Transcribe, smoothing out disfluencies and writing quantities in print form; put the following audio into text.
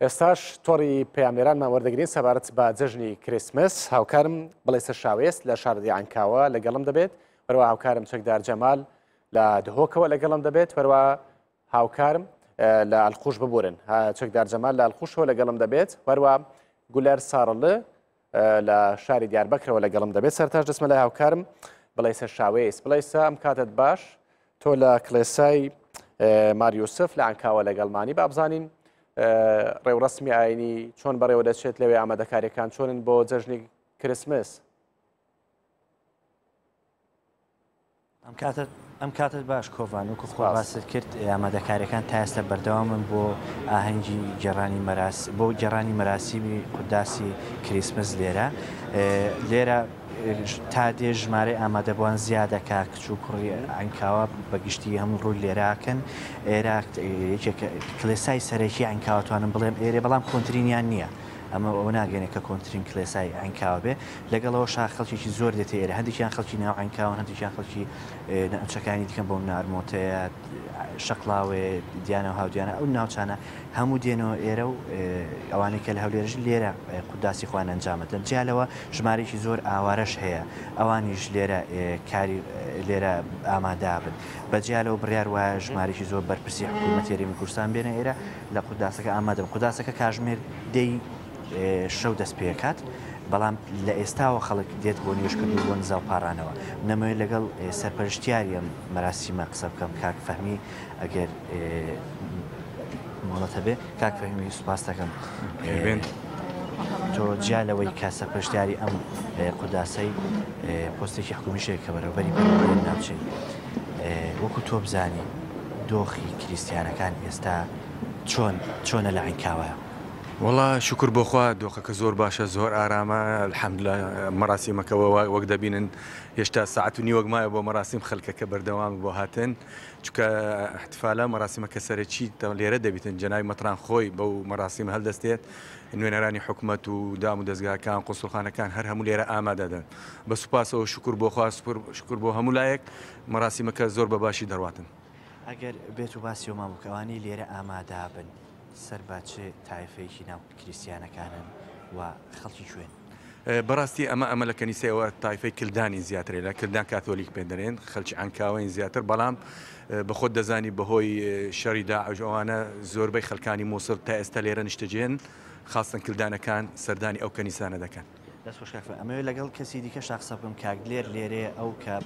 ئێستاش تۆڕی پەیامنێرانمان وەردەگرین سەبارەت بە جەژنی کریسمس. هاوکارم بڵێسە شاوێس لە شارەدێی عەنکاوە لەگەڵم دەبێت، هەروەها هاوکارم چەکدار جەمال لە دهۆکەوە لەگەڵم دەبێت، هەروەها هاوکارم لە ئەلقوش ببورن چەکدار جەمال لە ئەلقوشەوە لەگەڵم دەبێت، هەروەها گولەر سارڵ لە شاری دیاربەکرەوە لەگەڵم دەبێت. سەرتاش دەچمە لای هاوکارم بڵێسە شاوێس. بڵێسە ئەم کاتت باش، تۆ لە کڵێسای ماریوسف لە ئەنکاوە لەگەڵمانی، با بزانین ڕێوڕەسمی ئاینی چۆن بەڕێوە دەچێت لەوێ، ئامادەکاریەکان چۆنن بۆ جەژنی کریسمس؟ ئەم کاتت ئەم کاتت باش کۆڤان، وەکو خۆ باست کرد ئامادەکاریەکان تا ئێستا بەردەوامن بۆ ئاهەنگی گێڕانی مەراس بۆ گێڕانی مەراسیمی قوداسی کریسمس لێرە لێرە تا دێ ژمارەی ئامادەبووان زیادەکا کچ و کوڕی عەنکاوە بە گشتی هەموو ڕووی لێراکەن ئێرە یەکێک کلێسای سەرەکی عەنکاوە توانم بڵێم ئێرێ بەڵام کۆنترینیان نییە ئەمە ئەوە ناگەێنێ کە کۆنترین کلێسای عەنکاوە بێ لەگەڵ ئەوەشا خەڵکێکی زۆر دێتە ئێرە هەندێکیان خەڵکی ناو عەنکاوەن هەندێکیان خەڵکی ناوچەکانی دیکەن بۆ نارمۆتەیە شەقڵاوێ دیانە و هاودیانە ئەو ناوچانە هەموو دێنەوە ئێرە و ئەوانەی کە لە هەولێرژ لێرە قوداسی خۆیان ئەنجامەدەن جیا لەوە ژمارەیەکی زۆر ئاوارەش هەیە ئەوانیش لێرە کاری لێرە ئامادابن بە جیا لەوە بڕیار وایە ژمارەیەکی زۆر بەرپرسی حکوومەتی هەرێمی کوردستان بێنە ئێرە لە قوداسەکە ئامادەبن قوداسەکە کاژمێر دەی شەو دەست پێکات بەڵام لە ئێستاوە خەڵک دێت بۆ نوێژکردن و بۆ نزا و پاڕانەوە نەمەوێت لەگەڵ سەرپەرشتیاری ئەم مەراسیمە قسە بکەم کاک فەهمی ئەگەر مۆڵەت هەبێ کاک فەهمی سوپاس دەکەم تۆ جیا لەوەی کە سەرپەرشتیاری ئەم قوداسەی پۆستێکی حکومیشێک کە بەرەوبەری پەروەردەی ناوچەی وەکو تۆ بزانی دۆخی کریستیانەکان ئێستا چۆن چۆنە لە عینکاوە؟ وەڵا شوکر بۆ خوا دۆخەکە زۆر باشە زۆر ئارامە الحمدللە مەراسیمەکە وەک دەبینن هێشتا ساعەت و نیوەک مایە بۆ مەراسیم خەلکەکە بەردەوامە بۆ هاتن چونکە احتفالە مەراسیمەکە سەرەکی لێرە دەبیتن جەنابی مەتران خۆی بەو مەراسیمە هەلدەستێت نوێنەرانی حکومەت و دام و دەزگاکان قونسوڵخانەکان هەر هەموو لێرە ئامادەدەن بە سوپاسەوە شوکر بۆ خوا شوکر بۆ هەموو لایەک مەراسیمەکە زۆر بە باشی دەڕواتن. ئەگەر بێت و باسی ئەومان بوو کە ئەوانەی لێرە ئامادابن سەر بە چ تایفەیەکی ناو کریستیانەکانن و خەڵکی کوێن؟ بەڕاستی ئەمە ئەمە لە کەنیسەی ئەوە تایفەی کلدانین زیاترێ لە کلدان کاتۆلیک پێ دەرێن خەلکی عەنکاوەین زیاتر بەڵام بەخۆت دەزانی بەهۆی شەڕی داعش ئەوانە زۆربەی خەلکانی موسڵ تا ئێستا لێرە نیشتەجێن خاستەن کلدانەکان سەردانی ئەو کەنیسانە دەکەن. دەست خۆش کاک فەرهاد. ئەمەوێ لەگەڵ کەسی دیکەشا قسە بکەم کاک دلێر لێرەیە ئەو کە.